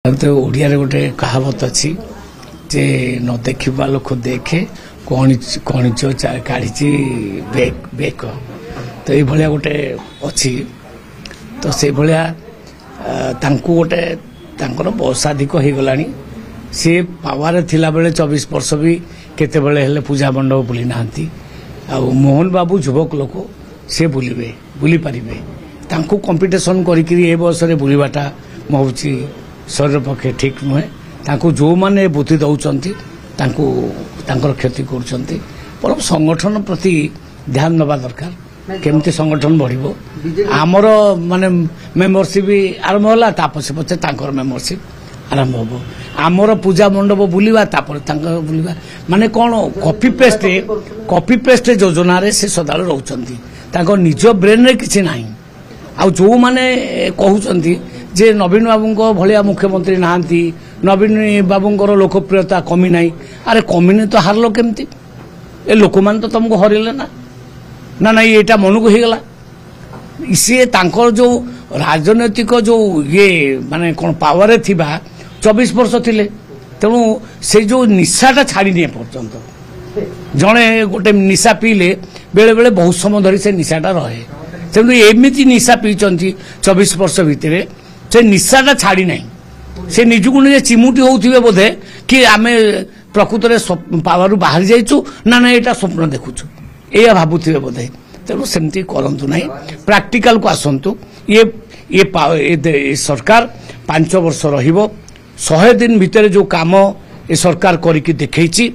ତ ଓଡ଼ିଆରେ ଗୋଟେ କାହାବତ ଅଛି ଯେ ନ ଦେଖିବା ଲୋକ ଦେଖେ, କଣିଚ କାଢ଼ିଛି ବେକ। ତ ଏଇଭଳିଆ ଗୋଟେ ଅଛି। ତ ସେଇଭଳିଆ ତାଙ୍କୁ ଗୋଟେ ତାଙ୍କର ବୟସାଧିକ ହେଇଗଲାଣି। ସିଏ ପାୱାରରେ ଥିଲାବେଳେ 24 ବର୍ଷ ବି କେତେବେଳେ ହେଲେ ପୂଜା ମଣ୍ଡପ ବୁଲି ନାହାନ୍ତି। ଆଉ ମୋହନ ବାବୁ ଯୁବକ ଲୋକ, ସେ ବୁଲିବେ, ବୁଲିପାରିବେ। ତାଙ୍କୁ କମ୍ପିଟିସନ୍ କରିକିରି ଏ ବୟସରେ ବୁଲିବାଟା ମୁଁ ଭାବୁଛି ଶରୀର ପକ୍ଷେ ଠିକ୍ ନୁହେଁ। ତାଙ୍କୁ ଯେଉଁମାନେ ବୁଦ୍ଧି ଦେଉଛନ୍ତି, ତାଙ୍କୁ ତାଙ୍କର କ୍ଷତି କରୁଛନ୍ତି। ବରଂ ସଂଗଠନ ପ୍ରତି ଧ୍ୟାନ ଦେବା ଦରକାର, କେମିତି ସଂଗଠନ ବଢ଼ିବ। ଆମର ମାନେ ମେମ୍ବରସିପ୍ ଆରମ୍ଭ ହେଲା, ତା ପଛେ ପଛେ ତାଙ୍କର ମେମ୍ବରସିପ୍ ଆରମ୍ଭ ହେବ। ଆମର ପୂଜା ମଣ୍ଡପ ବୁଲିବା, ତାପରେ ତାଙ୍କର ବୁଲିବା, ମାନେ କ'ଣ କପି ପେଷ୍ଟ ଯୋଜନାରେ ସେ ସଦାବେଳେ ରହୁଛନ୍ତି। ତାଙ୍କ ନିଜ ବ୍ରେନ୍ରେ କିଛି ନାହିଁ। ଆଉ ଯେଉଁମାନେ କହୁଛନ୍ତି ଯେ ନବୀନ ବାବୁଙ୍କ ଭଳିଆ ମୁଖ୍ୟମନ୍ତ୍ରୀ ନାହାନ୍ତି, ନବୀନ ବାବୁଙ୍କର ଲୋକପ୍ରିୟତା କମି ନାହିଁ, ଆରେ କମିନି ତ ହାରିଲ କେମିତି? ଏ ଲୋକମାନେ ତ ତମକୁ ହରିଲେ ନା ନା ନାଇଁ, ଏଇଟା ମନକୁ ହେଇଗଲା। ସିଏ ତାଙ୍କର ଯେଉଁ ରାଜନୈତିକ ଯେଉଁ ଇଏ ମାନେ କ'ଣ ପାୱାରରେ ଥିବା 24 ବର୍ଷ ଥିଲେ, ତେଣୁ ସେଇ ଯେଉଁ ନିଶାଟା ଛାଡ଼ିନି ଏପର୍ଯ୍ୟନ୍ତ। ଜଣେ ଗୋଟେ ନିଶା ପିଇଲେ ବେଳେବେଳେ ବହୁତ ସମୟ ଧରି ସେ ନିଶାଟା ରହେ। ତେଣୁ ଏମିତି ନିଶା ପିଇଛନ୍ତି 24 ବର୍ଷ ଭିତରେ, ସେ ନିଶାଟା ଛାଡ଼ି ନାହିଁ। ସେ ନିଜକୁ ନିଜେ ଚିମୁଟି ହେଉଥିବେ ବୋଧେ କି ଆମେ ପ୍ରକୃତରେ ପାୱାରରୁ ବାହାରି ଯାଇଛୁ ନା ନା ଏଇଟା ସ୍ୱପ୍ନ ଦେଖୁଛୁ, ଏଇଆ ଭାବୁଥିବେ ବୋଧେ। ତେଣୁ ସେମିତି କରନ୍ତୁ ନାହିଁ, ପ୍ରାକ୍ଟିକାଲକୁ ଆସନ୍ତୁ। ଇଏ ଇଏ ସରକାର 5 ବର୍ଷ ରହିବ। 100 ଦିନ ଭିତରେ ଯେଉଁ କାମ ଏ ସରକାର କରିକି ଦେଖେଇଛି